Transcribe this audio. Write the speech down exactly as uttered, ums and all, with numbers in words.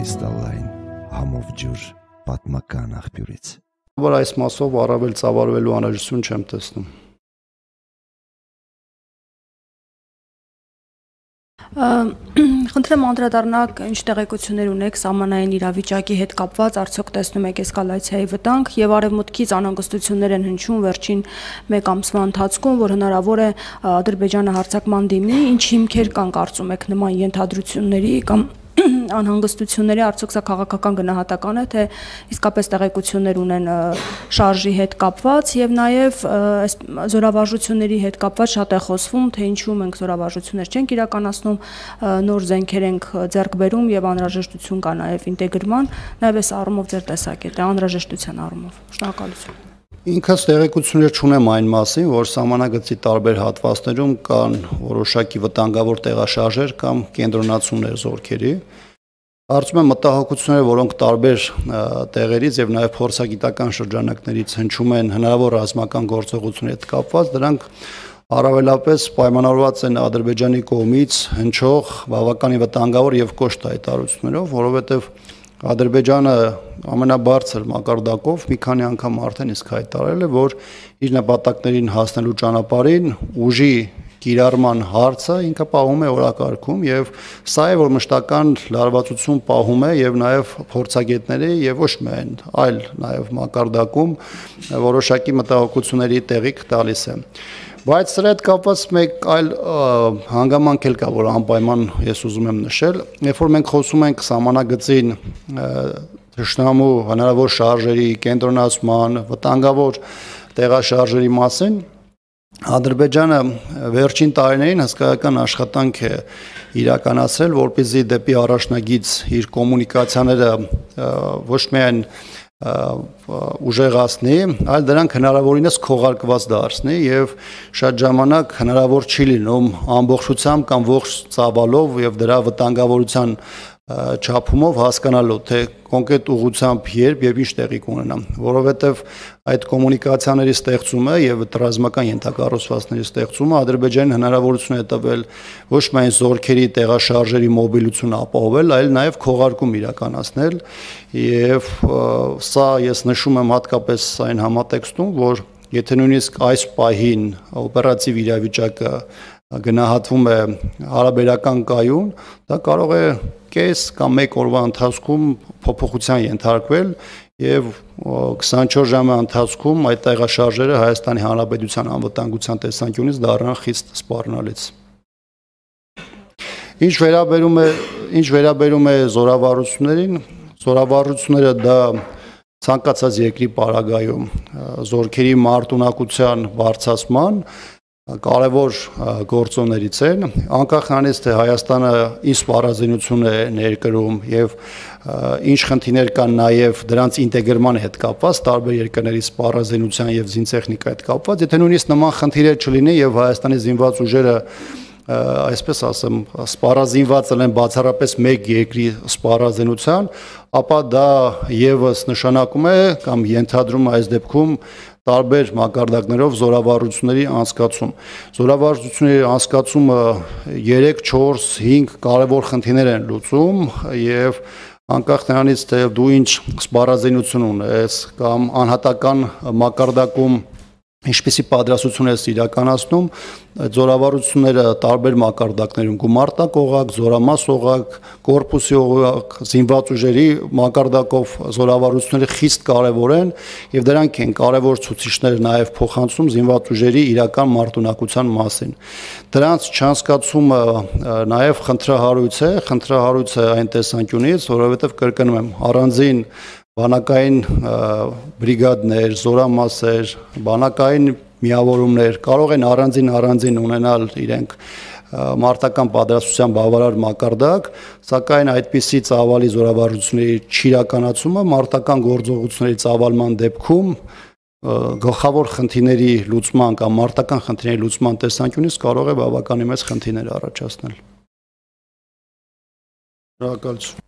Կրիստալային համով ջուր պատմական աղբյուրից։ Որ այս մասով առավել ծավալվելու անհրաժեշտություն չեմ տեսնում։ Խնդրեմ անդրադառնալ, ինչ տեղեկություններ ունեք սահմանային իրավիճակի հետ կապված, արդյոք տեսնում եք էսկալացիայի վտանգ եւ արևմուտքից անհանգստություններ են հնչում վերջին մեկ ամսվա ընթացքում, որ հնարավոր է Ադրբեջանը հարձակման դիմի, ինչ հիմքեր կան կարծում եք նման ենթադրությունների կամ անհանգստությունների, արդյոք սա քաղաքական գնահատական է, թե իսկապես տեղեկություններ ունեն շարժի հետ կապված եւ նաեւ զորավարժությունների հետ կապված շատ է խոսվում, թե ինչու մենք զորավարժություններ չենք իրականացնում, նոր զենքեր ենք ձեռք բերում եւ անհրաժեշտություն կա նաեւ ինտեգրման, նաեւ այս առումով ձեր տեսակետը անհրաժեշտության առումով։ Շնորհակալություն։ Ինքս տեղեկություններ չունեմ այն մասին, որ սահմանագծի տարբեր հատվածներում կան որոշակի վտանգավոր տեղաշարժեր կամ կենտրոնացումներ զորքերի։ Կարծում եմ մտահոգությունները, որոնք տարբեր տեղերից եւ նաեւ փորձագիտական շրջանակներից հնչում են հնարավոր ռազմական գործողությունների հետ կապված, դրանք առավելապես պայմանավորված են Ադրբեջանի կողմից հնչող բավականին վտանգավոր եւ կոշտ հայտարարություններով, որովհետեւ Ադրբեջանը ամենաբարձր մակարդակով մի քանի անգամ արդեն իսկ հայտարարել է, որ իր նպատակներին հասնելու ճանապարհին ուժի կիրառման հարցը ինքը պահում է օրակարգում եւ սա է, որ մշտական լարվածություն պահում է եւ նաեւ փորձագետների եւ ոչ միայն այլ նաեւ մակարդակում որոշակի մտահոգությունների տեղիք տալիս է։ Բայց սրա հետ կապված մեկ այլ հանգամանք էլ կա, որ անպայման ես ուզում եմ նշել, երբ որ մենք խոսում ենք սահմանագծին թշնամու հնարավոր շարժերի, կենտրոնացման, վտանգավոր տեղաշարժերի մասին, Ադրբեջանը վերջին տարիներին հսկայական աշխատանք է իրականացրել, որպեսզի դեպի առաջնագիծ իր կոմունիկացիաները ոչ միայն ուժեղացնի, այլ դրանք հնարավորինս քողարկված դարձնի եւ շատ ժամանակ հնարավոր չի լինում ամբողջությամբ կամ ողջ ծավալով եւ դրա վտանգավորության չափումով հասկանալու, թե կոնկրետ ուղղությամբ երբ եւ ինչ տեղի կունենա, որովհետեւ այդ կոմունիկացիաների ստեղծումը եւ ռազմական ենթակառուցվածքների ստեղծումը Ադրբեջանին հնարավորություն է տվել ոչ միայն զորքերի տեղաշարժերի մոբիլություն ապահովել, այլ նաեւ քողարկում իրականացնել եւ սա ես նշում եմ հատկապես այն համատեքստում, որ եթե նույնիսկ այս պահին օպերատիվ իրավիճակը գնահատվում է հարաբերական կայուն, դա կարող է կես կամ մեկ օրվա ընթացքում փոփոխության ենթարկվել եւ քսանչորս ժամի ընթացքում այդ տեղաշարժերը Հայաստանի Հանրապետության անվտանգության տեսանկյունից դառնան խիստ սպառնալից։ Ինչ վերաբերում է ինչ վերաբերում է զորավարություններին, զորավարությունները դա ցանկացած երկրի պարագայում զորքերի մարտունակության բարձրացման կարևոր գործոններից են, անկախ նրանից, թե Հայաստանը ինչ սպառազինություն է ներկրում եւ ինչ խնդիրներ կան նաեւ դրանց ինտեգրման հետ կապված, տարբեր երկրների սպառազինության եւ զինտեխնիկայի հետ կապված, եթե նույնիսկ նման խնդիրներ չլինի եւ Հայաստանի զինված ուժերը այսպես ասեմ, սպառազինված են բացառապես մեկ երկրի սպառազինության, ապա դա եւս նշանակում է կամ ենթադրում է այս դեպքում տարբեր մակարդակներով զորավարությունների անցկացում։ Զորավարությունների անցկացումը երեք, չորս, հինգ կարևոր խնդիրներ են լուծում եւ անկախ նրանից, թե դու ինչ սպառազինություն ունես կամ անհատական մակարդակում ինչպիսի պատրաստություն ես իրականացնում, զորավարությունները տարբեր մակարդակներում գումարտակ օղակ, զորամաս օղակ, կորպուսի օղակ, զինված ուժերի մակարդակով զորավարությունները խիստ կարևոր են եւ դրանք են կարևոր ցուցիչներ նաեւ փոխանցում զինված ուժերի իրական մարտունակության մասին։ Դրանց չանցկացումը նաեւ խնդրահարույց է, խնդրահարույց է այն տեսանկյունից, որովհետեւ կրկնում եմ, առանձին բանակային բրիգադներ, զորամասեր, բանակային միավորումներ կարող են առանձին առանձին ունենալ իրենք մարտական պատրաստության բավարար մակարդակ, սակայն այդպիսի ծավալի զորավարությունների չիրականացումը մարտական գործողությունների ծավալման դեպքում գլխավոր խնդիրների լուծման կամ մարտական խնդիրների լուծման տեսանկյունից կարող է բավականին մեծ խնդիրներ առաջացնել։ Շնորհակալություն։